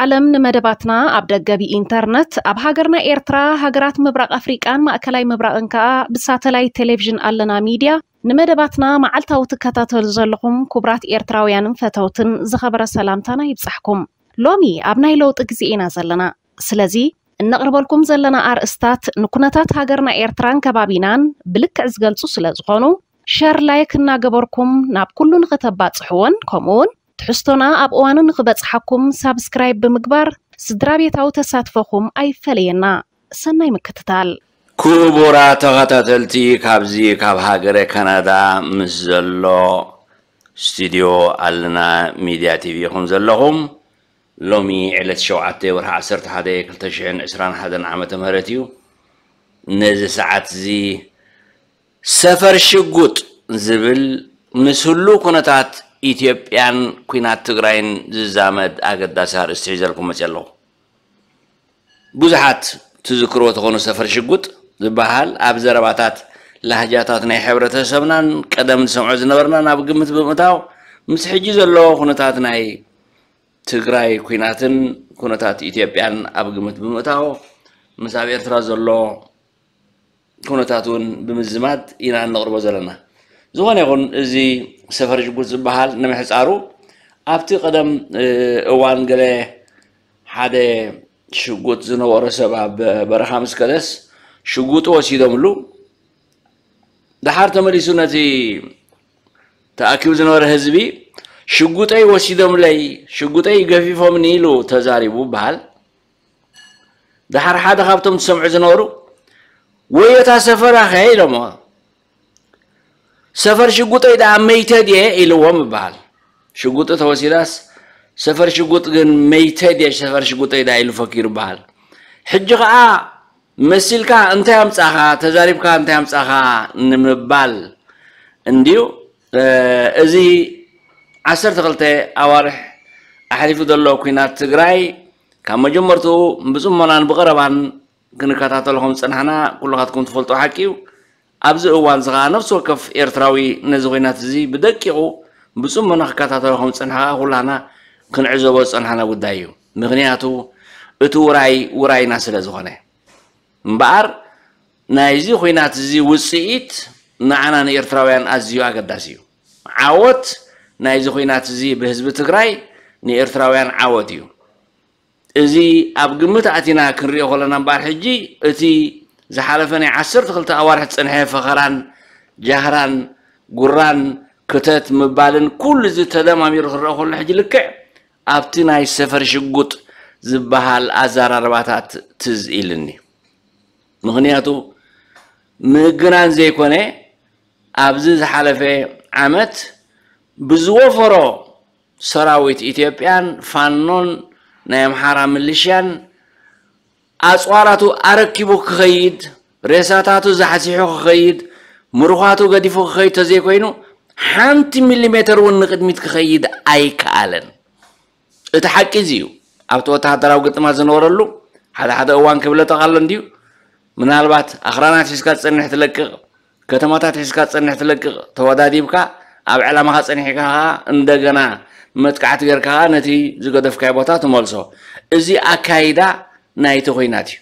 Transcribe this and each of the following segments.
ዓለም ንመደባትና ኣብ ደገ ብኢንተርነት፣ ኣብ ሃገርና ኤርትራ፣ ሃገራት ምብራቕ ኣፍሪቃን ማእከላይ ምብራቕን ከኣ ብሳተላይት ቴሌቪዥን ኣለና ሚድያ ንመደባትና መዓልታዊ ትከታተሉ ዘለኹም ክቡራት ኤርትራውያንን ፈተውትን ዝኸበረ ሰላምታና ይብጻሕኩም። ሎሚ ኣብ ናይ ለውጢ ግዜ ኢና ዘለና። ስለዚ እነቕርበልኩም ዘለና ኣርእስታት ንኩነታት ሃገርና ኤርትራን ከባቢናን ብልክዕ ዝገልጹ ስለ ዝኾኑ፣ ሸር ላይክ እናገበርኩም ናብ ኩሉ ንኽተባጽሕዎን ከምኡውን ትሕዝቶና ኣብ እዋኑ ንኽበጽሓኩም ሳብስክራይብ ብምግባር ስድራ ቤታዊ ተሳትፎኹም ኣይፈለየና። ሰናይ ምክትታል። ክቡራት ተኸታተልቲ፣ ካብዚ ካብ ሃገረ ካናዳ ምስ ዘሎ ስቱድዮ ኣለና ሚድያ ቲቪ ኢኹም ዘለኹም። ሎሚ ዕለት ሸውዓተ ወርሒ ዓሰርተ ሓደ ክልተ ሽሕን ዕስራን ሓደን ዓመተ ምህረት እዩ። ነዚ ሰዓት እዚ ሰፈር ሽጉጥ ዝብል ምስ ህሉው ኩነታት ኢትዮጵያን ኲናት ትግራይን ዝዛመድ ኣገዳሲ ኣርእስቲ ሒዘልኩም መፅየ ኣለኹ። ብዙሓት ትዝክርዎ ተኾኑ ሰፈር ሽጉጥ ዝበሃል ኣብ ዘረባታት ላህጃታት ናይ ሕብረተሰብናን ቀደም ንሰምዖ ዝነበርናን ኣብ ግምት ብምእታው ምስ ሕጂ ዘሎ ኩነታት ናይ ትግራይ ኲናትን ኩነታት ኢትዮጵያን ኣብ ግምት ብምእታው ምስ ኣብ ኤርትራ ዘሎ ኩነታት እውን ብምዝማድ ኢና እነቕርቦ ዘለና። ዝኾነ ይኹን እዚ ሰፈር ሽጉጥ ዝበሃል ንምሕፃሩ ኣብቲ ቀደም እዋን ገለ ሓደ ሽጉጥ ዝነበሮ ሰብ ኣብ በረኻ ምስ ከደስ ሽጉጡ ወሲዶምሉ። ደሓር ተመሊሱ ነቲ ተኣኪቡ ዝነበረ ህዝቢ ሽጉጠይ ወሲዶምለይ፣ ሽጉጠይ ገፊፎምኒ ኢሉ ተዛሪቡ በሃል። ደሓር ሓደ ካብቶም ዝሰምዑ ዝነበሩ ወዮ እታ ሰፈራ ኸ ኢሎሞ። ሰፈር ሽጉጠይ ደኣ መይተ ድየ ኢልዎም ይበሃል። ሽጉጡ ተወሲዳስ ሰፈር ሽጉጥ ግን መይተ ድየ ሰፈር ሽጉጠይ ደኣ ኢሉ ፈኪሩ ይበሃል። ሕጂ ኸዓ መሲልካ እንታይ ኣምጻኻ፣ ተዛሪብካ እንታይ ኣምጻኻ ንምባል እንድዩ። እዚ ዓሰርተ ክልተ ኣዋርሕ ኣሕሊፉ ዘሎ ኲናት ትግራይ ካብ መጀመርትኡ ብጽሞናን ብቐረባን ክንከታተሎ ከም ዝጸናሕና ኩልኻትኩም ትፈልጦ ሓቂ እዩ። ኣብዚ እዋን እዚ ኸዓ ነፍሲ ወከፍ ኤርትራዊ ነዚ ኹናት እዚ ብደቂቑ ብጽሞና ክከታተሎ ከም ዝጸንሐ ኸዓ ኩላህና ክንዕዘቦ ዝጸናሕና ጉዳይ እዩ። ምኽንያቱ እቲ ውራይ ውራይና ስለ ዝኾነ። እምበኣር ናይዚ ኹናት እዚ ውጽኢት ንዓና ንኤርትራውያን ኣዝዩ ኣገዳሲ እዩ። ዓወት ናይዚ ኹናት እዚ ብህዝቢ ትግራይ ንኤርትራውያን ዓወት እዩ። እዚ ኣብ ግምት ኣቲና ክንሪኦ ከለና እምበኣር ሕጂ እቲ ዝሓለፈ ናይ ዓሰርተ ክልተ ኣዋርሕ ዝጸንሐ ፈኸራን ጃህራን ጉራን ክተት ምባልን ኩሉ እዚ ተደማሚሩ ክረአ ከሎ ሕጂ ልክዕ ኣብቲ ናይ ሰፈር ሽጉጥ ዝበሃል ኣዘራርባታት ትዝ ኢልኒ። ምኽንያቱ ምግናን ዘይኮነ ኣብዚ ዝሓለፈ ዓመት ብዝወፈሮ ሰራዊት ኢትዮጵያን ፋኖን ናይ ኣምሓራ ምልሽያን ኣፅዋራቱ ኣረኪቡ ክኸይድ፣ ሬሳታቱ ዛሕሲሑ ክኸይድ፣ ምሩኻቱ ገዲፉ ክኸይድ ተዘይኮይኑ ሓንቲ ሚሊሜተር እውን ንቕድሚት ክኸይድ ኣይከኣለን። እቲ ሓቂ እዚ እዩ። ኣብቲ ወተሃደራዊ ግጥማት ዝነበረሉ ሓደ ሓደ እዋን ክብለጠቕ ኣሎ እንድዩ። ምናልባት ኣኽራናት ሒዝካ ትጸንሕ ትለቅቕ፣ ከተማታት ሒዝካ ትጸንሕ ትለቅቕ፣ ተወዳዲብካ ኣብ ዕላማኻ ጸኒሕካ ኸኣ እንደገና መጥቃዕቲ ጌርካ ኸኣ ነቲ ዝገደፍካዮ ቦታ ትመልሶ። እዚ ኣካይዳ ናይቲ ኹናት እዩ።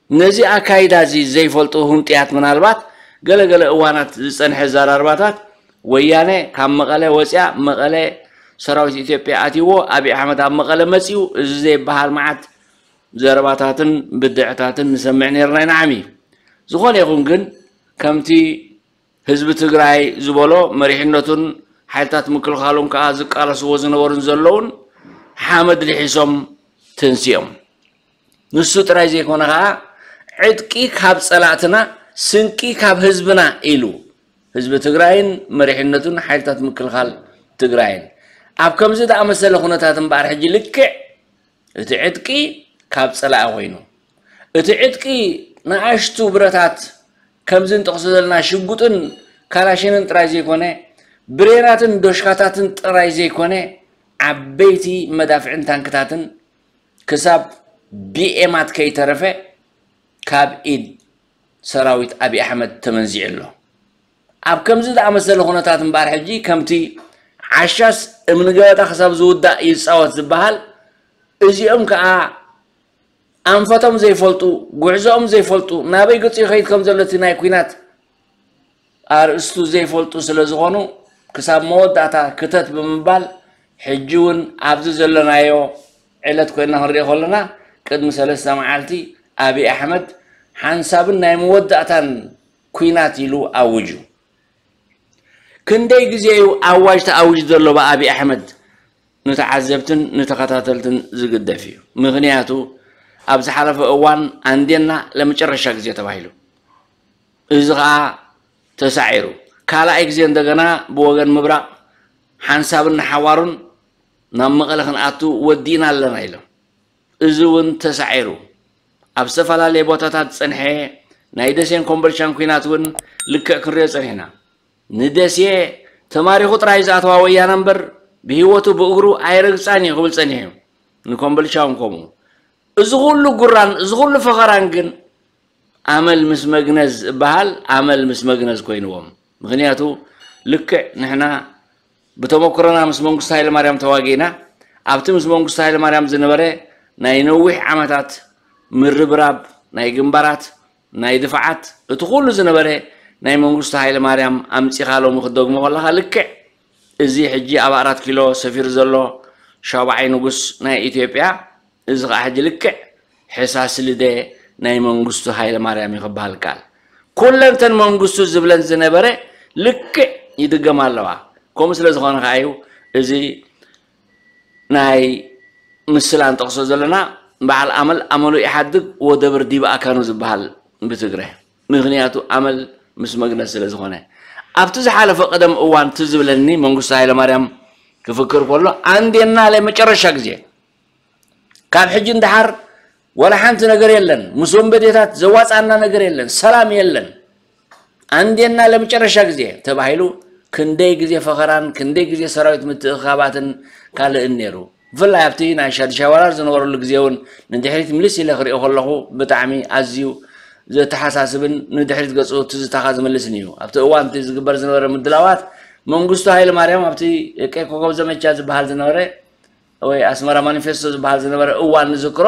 ነዚ ኣካይዳ እዚ ዘይፈልጡ ህንጥያት ምናልባት ገለ ገለ እዋናት ዝጸንሐ ኣዘራርባታት ወያነ ካብ መቐለ ወፂኣ መቐለ ሰራዊት ኢትዮጵያ ኣትይዎ ኣብይ ኣሕመድ ኣብ መቐለ መፂኡ እዚ ዘይበሃል መዓት ዘረባታትን ብድዕታትን ንሰምዕ ነይርና ኢና ዓሚ። ዝኾነ ይኹን ግን ከምቲ ህዝቢ ትግራይ ዝበሎ መሪሕነቱን ሓይልታት ምክልኻሉን ከዓ ዝቃለስዎ ዝነበሩን ዘለውን ሓመድ ልሒሶም ተንሲኦም። ንሱ ጥራይ ዘይኮነ ከዓ ዕጥቂ ካብ ፀላእትና ስንቂ ካብ ህዝብና ኢሉ ህዝቢ ትግራይን መሪሕነቱን ሓይልታት ምክልኻል ትግራይን ኣብ ከምዚ ዝኣመሰለ ኩነታት እምበኣር ሕጂ ልክዕ እቲ ዕጥቂ ካብ ፀላኢ ኮይኑ እቲ ዕጥቂ ንኣሽቱ ብረታት ከምዚ እንጠቕሶ ዘለና ሽጉጥን ካላሽንን ጥራይ ዘይኮነ ብሬናትን ዶሽካታትን ጥራይ ዘይኮነ ዓበይቲ መዳፍዕን ታንክታትን ክሳብ ቢኤማት ከይተረፈ ካብ ኢድ ሰራዊት ኣብይ ኣሕመድ ተመንዚዑ ኣሎ። ኣብ ከምዚ ዝኣመሰለ ኩነታት እምበኣር ሕጂ ከምቲ ዓሻስ እምኒ ገበጣ ክሳብ ዝውዳእ ይፃወት ዝበሃል እዚኦም ከዓ ኣንፈቶም ዘይፈልጡ፣ ጉዕዞኦም ዘይፈልጡ፣ ናበይ ገፁ ይኸይድ ከም ዘሎ እቲ ናይ ኲናት ኣርእስቱ ዘይፈልጡ ስለ ዝኾኑ፣ ክሳብ መወዳእታ ክተት ብምባል፣ ሕጂ እውን ኣብዚ ዘለናዮ ዕለት ኮይና ክንሪኦ ከለና፣ ቅድሚ ሰለስተ መዓልቲ ኣብይ ኣሕመድ ሓንሳብን ናይ መወዳእታን ኲናት ኢሉ ኣውጁ። ክንደይ ግዜ እዩ ኣዋጅ ተኣዊጁ ዘሎ ብኣብይ ኣሕመድ? ንተዓዘብትን ንተኸታተልትን ዝግደፍ እዩ። ምኽንያቱ ኣብ ዝሓለፈ እዋን ኣንዴና ለመጨረሻ ግዜ ተባሂሉ፣ እዚ ኸዓ ተሳዒሩ፣ ካልኣይ ግዜ እንደገና ብወገን ምብራቕ ሓንሳብን ንሓዋሩን ናብ መቐለ ክንኣቱ ወዲእና ኣለና ኢሎም። እዚ እውን ተሳዒሩ ኣብ ዝተፈላለየ ቦታታት ዝፀንሐ ናይ ደሴን ኮምቦልቻን ኲናት እውን ልክዕ ክንሪኦ ፀኒሕና። ንደሴ ተማሪኹ ጥራይ ዝኣተዋ ወያነ እምበር ብህይወቱ ብእግሩ ኣይረግፃን እዩ ክብል ፀኒሑ እዩ። ንኮምቦልቻ እውን ከምኡ። እዚ ኩሉ ጉራን እዚ ኩሉ ፈኸራን ግን ኣመል ምስ መግነዝ እበሃል፣ ኣመል ምስ መግነዝ ኮይንዎም። ምኽንያቱ ልክዕ ንሕና ብተመክሮና ምስ መንግስቱ ሃይለማርያም ተዋጊእና፣ ኣብቲ ምስ መንግስቱ ሃይለማርያም ዝነበረ ናይ ነዊሕ ዓመታት ምርብራብ ናይ ግንባራት፣ ናይ ድፋዓት፣ እቲ ኩሉ ዝነበረ ናይ መንግስቱ ሃይለማርያም ኣምጺኻ ሎሚ ክትደግሞ ከለኻ ልክዕ እዚ ሕጂ ኣብ ኣራት ኪሎ ሰፊሩ ዘሎ ሻውዓይ ንጉስ ናይ ኢትዮጵያ፣ እዚ ኸዓ ሕጂ ልክዕ ሕሳስ ልደ ናይ መንግስቱ ሃይለማርያም እዩ ክበሃል ከኣል። ኩለንተን መንግስቱ ዝብለን ዝነበረ ልክዕ ይድገማ ኣለዋ። ከምኡ ስለ ዝኾነ ኸዓ እዩ እዚ ናይ ምስላ ንጠቕሶ ዘለና፣ በዓል ኣመል ኣመሉ ይሓድግ ወደብር ዲብ ኣካኑ ዝበሃል ብትግረ። ምኽንያቱ ኣመል ምስ መግነዝ ስለ ዝኾነ። ኣብቲ ዝሓለፈ ቀደም እዋን ትዝ ዝብለኒ መንግስቱ ሃይለማርያም ክፍክር ከሎ ኣንዴና ለመጨረሻ ግዜ ካብ ሕጂ ንደሓር ዋላ ሓንቲ ነገር የለን፣ ምስ ወንበዴታት ዘዋፃና ነገር የለን፣ ሰላም የለን፣ ኣንዴና ለመጨረሻ ግዜ ተባሂሉ ክንደይ ግዜ ፈኸራን ክንደይ ግዜ ሰራዊት ምትእኽኻባትን ካልእን ነይሩ። ብፍላይ ኣብቲ ናይ ሻድሻይ ወራር ዝነበረሉ ግዜ እውን ንድሕሪት ምልስ ኢለ ክሪኦ ከለኹ ብጣዕሚ ኣዝዩ ዘተሓሳስብን ንድሕሪት ገፁ ትዝታኻ ዝምልስን እዩ። ኣብቲ እዋን እቲ ዝግበር ዝነበረ ምድላዋት መንግስቱ ሃይለ ማርያም ኣብቲ ቀይ ኮከብ ዘመቻ ዝበሃል ዝነበረ ወይ ኣስመራ ማኒፌስቶ ዝበሃል ዝነበረ እዋን ንዝክሮ።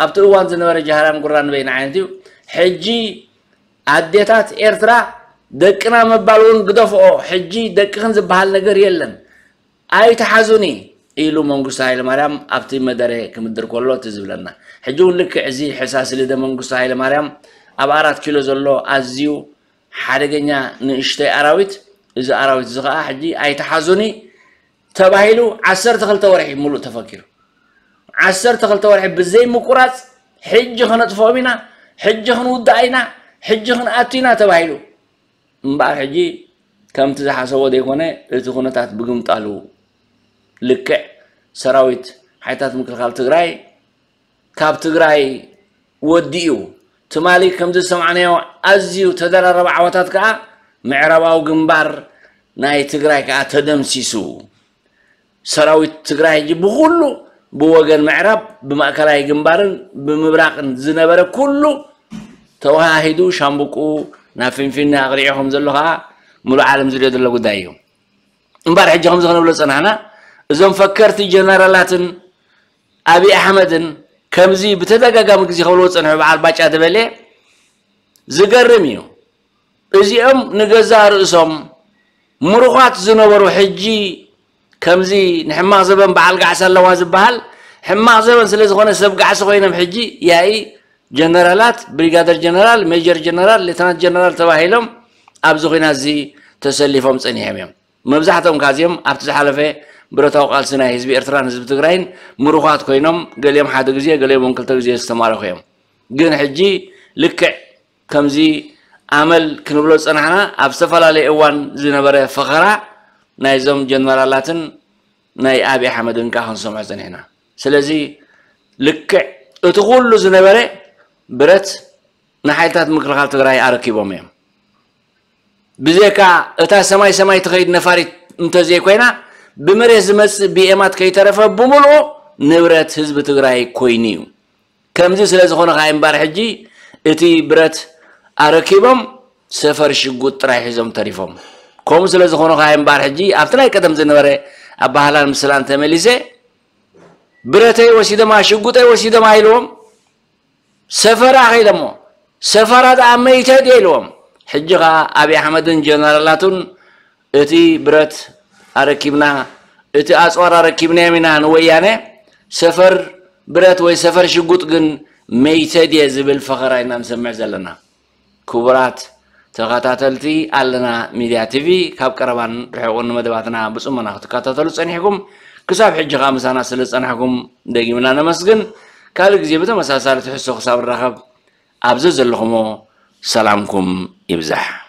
ኣብቲ እዋን ዝነበረ ጃህራን ጉራን ንበይኑ ዓይነት እዩ። ሕጂ ኣዴታት ኤርትራ ደቅና ምባል እውን ግደፍኦ፣ ሕጂ ደቅኽን ዝበሃል ነገር የለን፣ ኣይትሓዙኒ ኢሉ መንግስቱ ሃይለማርያም ኣብቲ መደረ ክምድር ከሎ እቲ ዝብለና። ሕጂ እውን ልክዕ እዚ ሕሳስ ልደ መንግስቱ ሃይለማርያም ኣብ ኣራት ኪሎ ዘሎ ኣዝዩ ሓደገኛ ንእሽተይ ኣራዊት፣ እዚ ኣራዊት እዚ ኸዓ ሕጂ ኣይትሓዙኒ ተባሂሉ ዓሰርተ ክልተ ወርሒ ሙሉእ ተፈኪሩ። ዓሰርተ ክልተ ወርሒ ብዘይ ምቁራፅ ሕጂ ከነጥፍኦም ኢና፣ ሕጂ ክንውዳእ ኢና፣ ሕጂ ክንኣቱ ኢና ተባሂሉ። እምበኣር ሕጂ ከምቲ ዝሓሰቦ ዘይኮነ እቲ ኩነታት ብግምጣሉ። ልክዕ ሰራዊት ሓይልታት ምክልኻል ትግራይ ካብ ትግራይ ወዲኡ ትማሊ ከምዚ ዝሰማዕናዮ ኣዝዩ ተደራረበ ዓወታት ከዓ ምዕራባዊ ግንባር ናይ ትግራይ ከዓ ተደምሲሱ። ሰራዊት ትግራይ ሕጂ ብኩሉ ብወገን ምዕራብ ብማእከላይ ግንባርን ብምብራቕን ዝነበረ ኩሉ ተወሃሂዱ ሻምብቁ ናብ ፊንፊነ ኣቕሊዑ ከም ዘሎ ከዓ ሙሉእ ዓለም ዝሪኦ ዘሎ ጉዳይ እዩ። እምበር ሕጂ ከምዚ ክንብሎ ዝፀናሕና እዞም ፈከርቲ ጀነራላትን ኣብይ ኣሕመድን ከምዚ ብተደጋጋሚ ግዜ ክብልዎ ዝፀንሑ በዓል ባጫ ደበሌ ዝገርም እዩ። እዚኦም ንገዛእ ርእሶም ምሩኻት ዝነበሩ ሕጂ ከምዚ ንሕማቕ ዘበን በዓል ጋዕሳ ኣለዋ ዝበሃል ሕማቕ ዘበን ስለ ዝኾነ ሰብ ጋዕሲ ኮይኖም ሕጂ ያኢ ጀነራላት፣ ብሪጋደር ጀነራል፣ ሜጀር ጀነራል፣ ሌተናንት ጀነራል ተባሂሎም ኣብዚ ኹናት እዚ ተሰሊፎም ጸኒሖም እዮም። መብዛሕትኦም ካዚኦም ኣብቲ ዝሓለፈ ብረታዊ ቃልሲ ናይ ህዝቢ ኤርትራን ህዝቢ ትግራይን ምሩኻት ኮይኖም ገሊኦም ሓደ ግዜ ገሊኦም እውን ክልተ ግዜ ዝተማረኹ እዮም። ግን ሕጂ ልክዕ ከምዚ ኣመል ክንብሎ ዝጸናሕና ኣብ ዝተፈላለየ እዋን ዝነበረ ፈኸራ ናይዞም ጀነራላትን ናይ ኣብይ ኣሕመድን ከኣ ክንሰምዖ ጸኒሕና። ስለዚ ልክዕ እቲ ኩሉ ዝነበረ ብረት ንሓይልታት ምክልኻል ትግራይ ኣረኪቦም እዮም። ብዘይካ እታ ሰማይ ሰማይ ትኸይድ ነፋሪት እንተዘይኮይና ብመሬት ዝመጽእ ቢኤማት ከይተረፈ ብምልኡ ንብረት ህዝቢ ትግራይ ኮይኑ እዩ። ከምዚ ስለ ዝኾነ ከዓ እምባር ሕጂ እቲ ብረት ኣረኪቦም ሰፈር ሽጉጥ ጥራይ ሒዞም ተሪፎም። ከምኡ ስለ ዝኾነ ከዓ እምባር ሕጂ ኣብቲ ናይ ቀደም ዝነበረ ኣባህላን ምስላን ተመሊሰ ብረተይ ወሲደማ ሽጉጠይ ወሲደማ ኢልዎም ሰፈራ ከይደሞ ሰፈራ ደኣ መይተ ድየ ኢልዎም። ሕጂ ኸዓ ኣብይ ኣሕመድን ጀነራላቱን እቲ ብረት ኣረኪብና እቲ ኣፅዋር ኣረኪብናዮም ኢና ንወያነ ሰፈር ብረት ወይ ሰፈር ሽጉጥ ግን መይተ ድየ ዝብል ፈኸራ ኢና ንሰምዕ ዘለና። ክቡራት ተኸታተልቲ ኣለና ሚድያ ቲቪ ካብ ቀረባን ርሑቕን መደባትና ብፅሞና ክትከታተሉ ፀኒሕኩም ክሳብ ሕጂ ከዓ ምሳና ስለ ዝፀናሕኩም ደጊምና ነመስግን። ካልእ ግዜ ብተመሳሳሊ ትሕዝቶ ክሳብ ንራኸብ ኣብዚ ዘለኹሞ ሰላምኩም ይብዛሕ።